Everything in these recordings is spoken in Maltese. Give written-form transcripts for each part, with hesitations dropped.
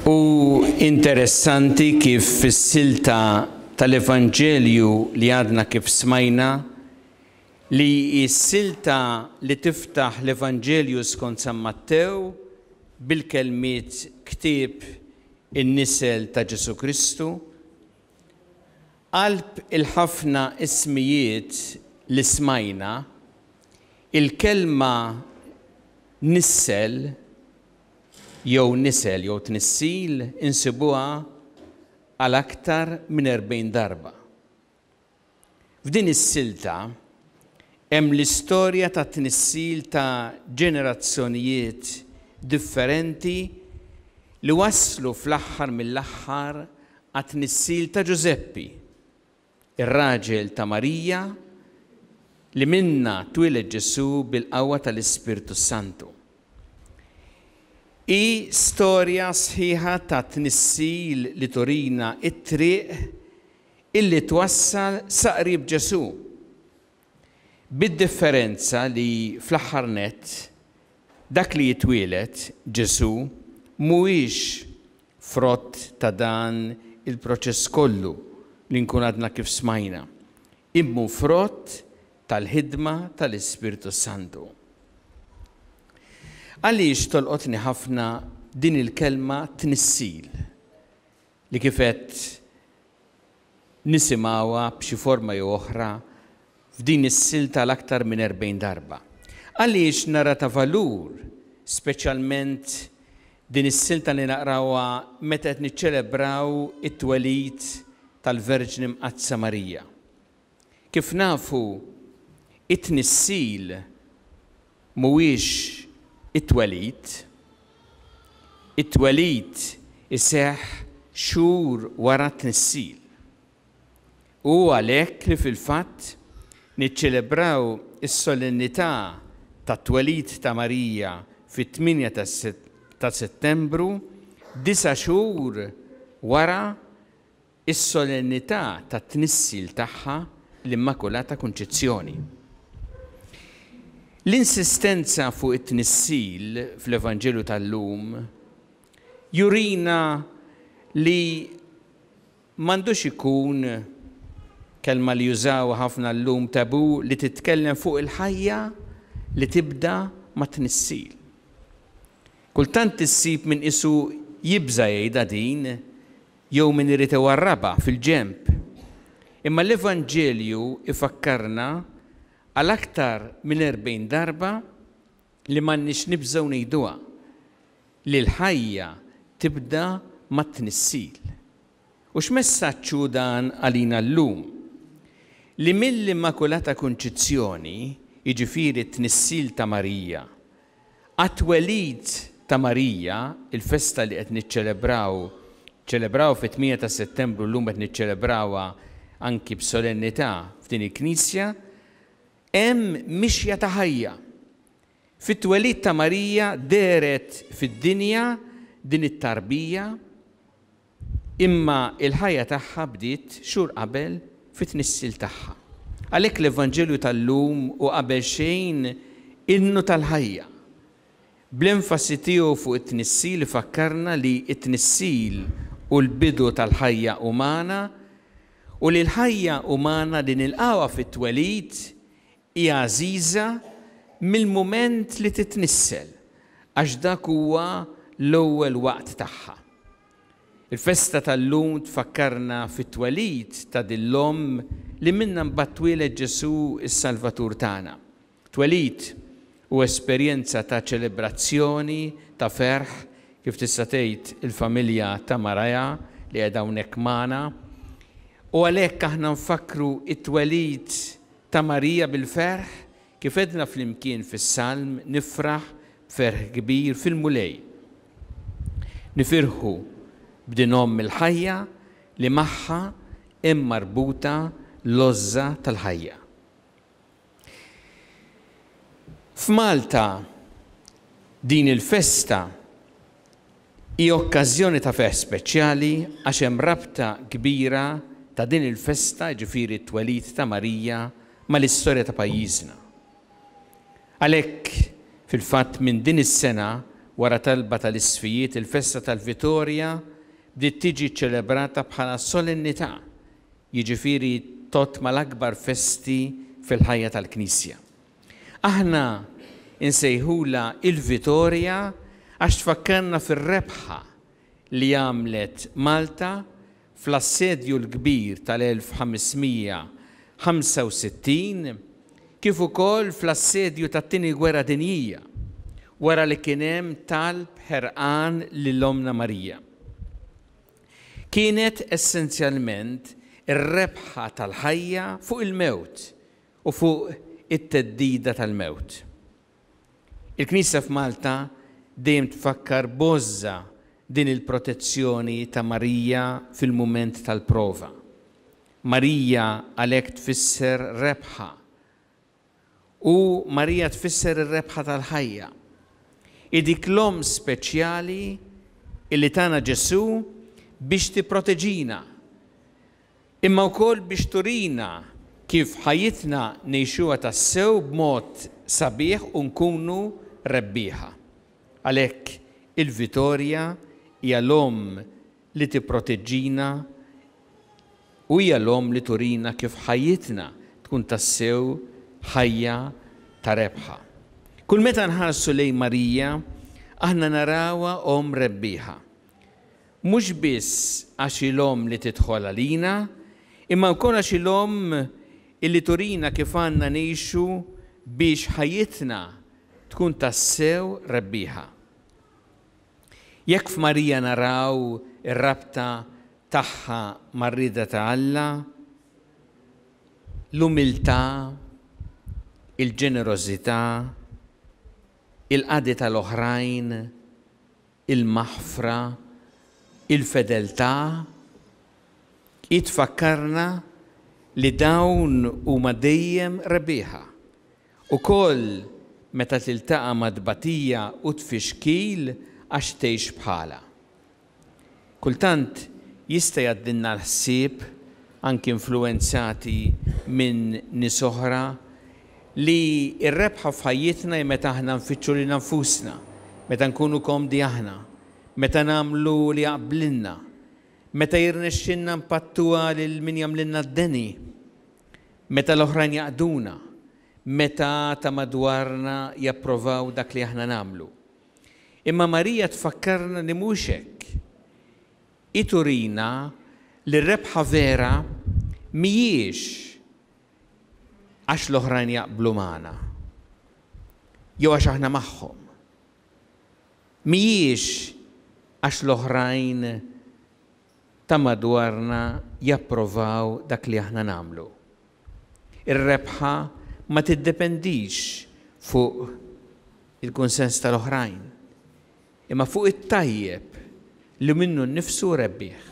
U interessanti kif fis-silta tal-Evanġelju li għadna kif smajna, li hi s-silta li tiftaħ l-Evanġelju skont San Mattew bil-kelmiet ktieb in-nisel ta' Ġesù Kristu, qalb il-ħafna ismijiet li smajna, il-kelma nissel jew nisel jew tnissil insibuha għal aktar minn 40 darba. F'din is-silta hemm l-istorja tat-tnissil ta' ġenerazzjonijiet differenti li wasslu fl-aħħar mill-aħħar għat-tnissil ta' Ġużeppi, ir-raġel ta' Marija li minnha twieled Ġesù bil-qawwa tal-Ispirtu s-Santu. Hi storja sħiħa ta' tnissil li turina t-triq illi twassal sa qrib Ġesù, bid-differenza li fl-aħħar nett dak li jitwieled, Ġesù, mhuwiex frott ta' dan il-proċess kollu li nkun għadna kif smajna, imma hu frott tal-ħidma tal-Ispirtu s-Santu. Għaliex tolqotni ħafna din il-kelma tnissil, li kif għedt nisimgħuha b'xi forma jew oħra f'din is-silta għal aktar minn 40 darba? Għaliex nara ta' valur speċjalment din is-silta li naqrawha meta qed niċċelebraw it-twelid tal-Verġni Mqaddsa Marija? Kif nafu, it-tnissil mhuwiex it-twelid. It-twelid iseħħ xhur wara t-tnissil. U hu għalhekk li fil-fatt niċċelebraw is-solennità tat-twelid ta' Marija fit-8 ta' Settembru, disa' xhur wara is-solennità tat-tnissil tagħha, l-Immakulata Kunċizzjoni. L-insistenza fuq it-tnissil fl-Evanġelju tal-lum jurina li m'għandux ikun, kelma li jużawha ħafna llum, tabù li titkellem fuq il-ħajja li tibda mat-tnissil. Kultant issib min qisu jibża' jgħidha din, jew min irid iwarrabha fil-ġenb. Imma l-Evanġelju jfakkarna għal aktar minn 40 darba li m'għandniex nibżgħu ngħiduha, li l-ħajja tibda mat-tnissil. U x'messaġġ hu dan għalina llum? Li mill-Immakulata Kunċizzjoni, jiġifieri t-tnissil ta' Marija, Għat-twelid ta' Marija, il-festa li qed niċċelebraw, ċċelebraw fit-8 ta' Settembru llum qed niċċelebrawha anki b'solennità f'din il-knisja, hemm mixja ta' ħajja. Fit-twelid ta' Marija dehret fid-dinja din it-tarbija, Imma l-ħajja tagħha bdiet xhur qabel fit-tnissil tagħha. Għalhekk l-Evanġelju tal-lum hu qabel xejn innu tal-ħajja. Bl-enfasi tiegħu fuq it-tnissil ifakkarna li t-tnissil hu l-bidu tal-ħajja umana u li l-ħajja umana li nilqgħuha fit-twelid hi għażiża mill-mument li titnissel għax dak huwa l-ewwel waqt tagħha. Il-festa tal-lum tfakkarna fit-twelid ta' din l-Omm li minnha mbagħad twieled Ġesù s-Salvatur tagħna. Twelid hu esperjenza ta' ċelebrazzjoni, ta' ferħ, kif tista' tgħid il-familja ta' Mariah li qiegħda hawnhekk magħna. U għalhekk aħna nfakkru t-twelid ta' Marija bil-ferħ, kif għedna flimkien fis-Salm, Nifraħ b'ferħ kbir fil-Mulej. Nifirħu b'din Omm il-ħajja li magħha hemm marbuta l-għożża tal-ħajja. F'Malta din il-festa hi okkażjoni ta' ferħ speċjali għax hemm rabta kbira ta' din il-festa, jiġifieri t-twelid ta' Marija, mal-istorja ta' pajjiżna. Għalhekk, fil-fatt minn din is-sena, Wara talba tal-Isqfijiet, il-festa tal-Vitorja bdiet tiġi ċċelebrata bħala solennità, jiġifieri tgħodd mal-akbar festi fil-ħajja tal-Knisja. Aħna nsejħulha il-Vitorja għax tfakkarna fir-rebħa li għamlet Malta fl-Assedju l-Kbir tal-1565 kif ukoll fl-assedju tat-Tieni Gwerra Dinjija, wara li kien hemm talb ħerqan lil Ommna Marija. Kienet essenzjalment ir-rebħa tal-ħajja fuq il-mewt u fuq it-theddida tal-mewt. Il-Knisja f'Malta dejjem tfakkar b'għożża din il-protezzjoni ta' Marija fil-mument tal-prova. Marija għalhekk tfisser rebħa. U Marija tfisser ir-rebħa tal-ħajja. Hi dik l-omm speċjali illi tana Ġesù biex tipproteġina imma wkoll biex turina kif ħajjitna ngħixuha tassew b'mod sabiħ u nkunu rebbieħa. Għalhekk il-Vitorja hija l-omm li tipproteġġina u hija l-omm li turina kif ħajjitna tkun tassew ħajja ta' rebħa. Kull meta nħarsu lejn Marija, aħna narawha omm rebbieħa. Mhux biss għax hi l-omm li tidħol għalina, imma wkoll għax hi l-omm illi turina kif għandna ngħixu biex ħajjitna tkun tassew rebbieħa. Jekk f'Marija naraw ir-rabta tagħha mar-rieda ta' Alla, l-umiltà, il-ġenerożità, il-qadi tal-oħrajn, il-maħfra, il-fedeltà, hi tfakkarna li dawn huma dejjem rebbieħa, ukoll meta tiltaqa' ma' tbatija u tfixkil għax tgħix bħalha. Kultant jista' jgħaddilna l-ħsieb, anki influwenzati minn nies oħra, li r-rebħa f'ħajjitna hi meta aħna nfittxu lilna nfusna, meta nkunu komdi aħna, meta nagħmlu li jaqblilna, meta jirnexxilna npattuha lil min jagħmlilna d-deni, meta l-oħrajn jaqduna, meta ta' madwarna japprovaw dak li aħna nagħmlu. Imma Marija tfakkarna li mhux hekk. Hi turina li r-rebħa vera mhijiex għax l-oħrajn jaqblu magħna jew għax aħna magħhom. Mhijiex għax l-oħrajn ta' madwarna japprovaw dak li aħna nagħmlu. Ir-rebħa ma tiddependix fuq il-kunsens tal-oħrajn, imma fuq it-tajjeb li minnu nnifsu rebbieħ.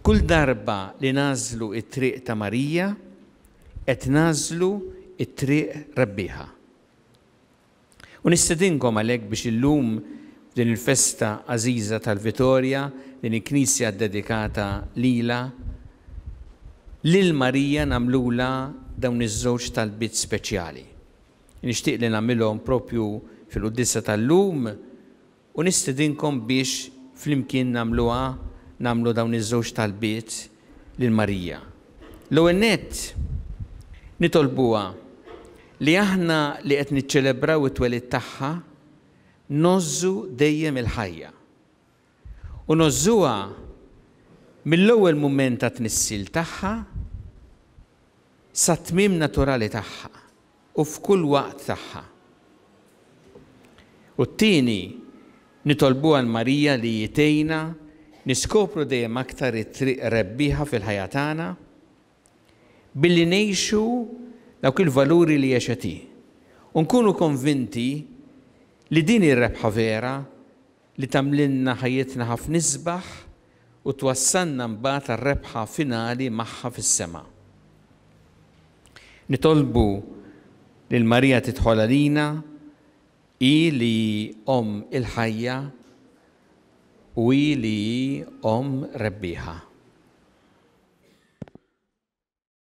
Kull darba li nagħżlu t-triq ta' Marija, qed nagħżlu t-triq rebbieħa. U nistedinkom għalhekk biex illum f'din il-festa għażiża tal-Vitorja, din il-knisja ddedikata lilha, lil Marija nagħmlulha dawn iż-żewġ talbiet speċjali. Nixtieq li nagħmilhom propju fil-quddiesa tal-lum u nistedinkom biex flimkien nagħmluha, nagħmlu dawn iż-żewġ talbiet lil Marija. L-ewwel nett, nitolbuha li aħna li qed niċċelebraw it-twelid tagħha ngħożżu dejjem il-ħajja. U ngħożżuha mill-ewwel mument tat-tnissil tagħha sat-tmiem naturali tagħha u f'kull waqt tagħha. U t-tieni, nitolbuha 'l Marija li hi tgħinna niskopru dejjem aktar it-triq rebbieħa fil-ħajja tagħna billi ngħixu dawk il-valuri li għexet hi u nkunu konvinti li din hi r-rebħa vera li tagħmlilna ħajjitna ħafna isbaħ u twassalna mbagħad għar-rebħa finali magħha fis-sema. Nitolbu lil Marija tidħol għalina, hi li hi Omm il-ħajja u hi li hi Omm rebbieħa.